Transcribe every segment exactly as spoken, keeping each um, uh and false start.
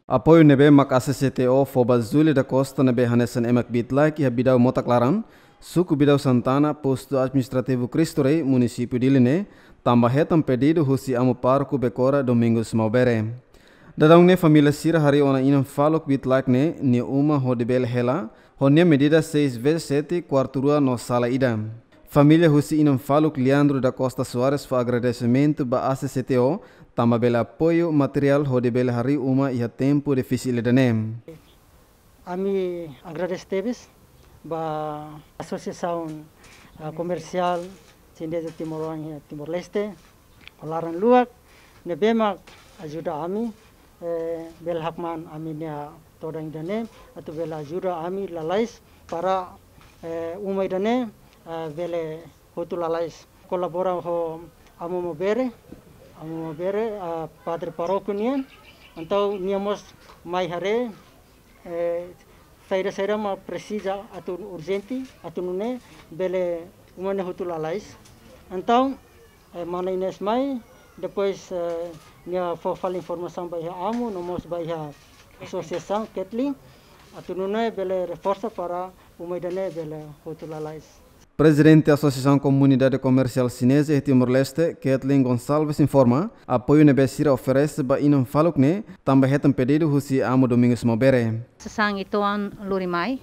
Apoiu ne'ebé mak A C C T O fó ba Zulia da Costa ne'ebé hanesan ema kbiit-laek iha Bidau Motak Laran, suku Bidau Santana, postu administrativu Cristo Rei, munisípiu Dili ne'e, tanba hetan pedidu husi amu pároku Becora Domingos Maubere. Daudaun ne'e família sira harii ona inan faluk kbiit-laek ne'e nia uma hodi bele hela ho nia medida seis vezes sete, kuartu rua no sala ida. Família husi inan faluk Leandro da Costa Soares fó agradesimentu ba A C C T O tanba bele apoiu materiál hodi bele harii uma iha tempu difisil ida-ne'e. Ami agradese tebes ba Asosiasaun, ah, Komersiál Xineza Timor-Oan iha Timor-Leste, ho laran luak, ne'ebé mak ajuda ami, eh, bele hakmaan ami-nia todan ida-ne'e, atu bele ajuda ami lalais para, eh, uma ida-ne'e, ah, bele hotu lalais. Kolabora ho Amu Maubere, Amu Maubere, ah, padre parókiu nian, entaun nia mós mai haree, eh, saida-saida mak presiza atu urjente, atu nune'e bele uma ne'e hotu lalais. Entaun, eh, mana Inês mai, depois, eh, nia fó fali informasaun ba iha amu, no mós ba iha asosiasaun Kathleen, atu nune'e bele reforsa para uma ida-ne'e bele hotu lalais. Prezidente Asosiasaun Komunidade Komersiál Xineza iha Timor-Leste, Kathleen Gonçalves, informa apoiu ne'ebé sira oferese ba inan faluk ne'e tanba hetan pedidu husi amu Domingos Maubere. Sasán ituan lori mai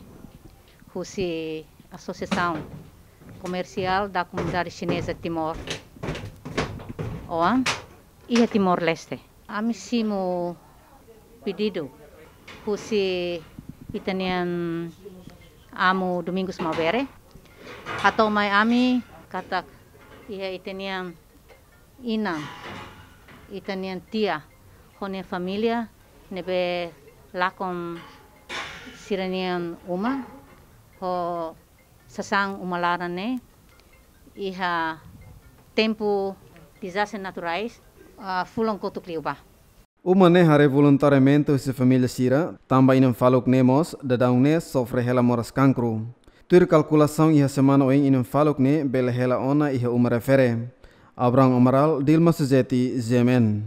husi Asosiasaun Komersiál da Komunidade Xineza Timor-Oan iha Timor-Leste. Ami simu pedidu husi ita-nian amu Domingos Maubere. Hato'o mai ami katak iha ita-nian inan, ita-nian tia, ho nia família ne'ebé lakon sira-nian uma, ho sasán uma laran ne'e iha tempu dezastre naturais, ah, fulan kotuk liubá. Uma ne'e haree voluntariamente husi família sira, tanba inan faluk ne'e mós daudaun ne'e sofre hela moras kankru. Tuir kalkulasaun iha semana oin inan faluk ne'e bele hela ona iha uma refere. Abraham Amaral, Dilma Suzeti, G M N.